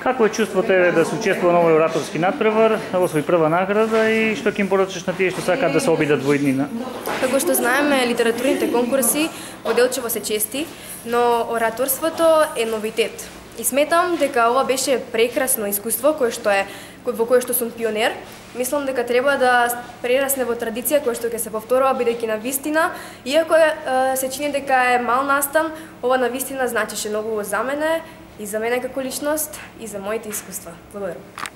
Како е чувството еве да се учествува на овој ораторски натпревар, освои прва награда и што ќе им порачаш на тие што сакаат да се обидат во иднина? Како што знаеме, литературните конкурси поделчево се чести, но ораторството е новитет. И сметам дека ова беше прекрасно искуство во кое што сум пионер. Мислам дека треба да прерасне во традиција која што ќе се повторува бидејќи на вистина, иако се чини дека е мал настан, ова на вистина значеше многу за мене и за мене како личност и за моите искуства. Благодарам.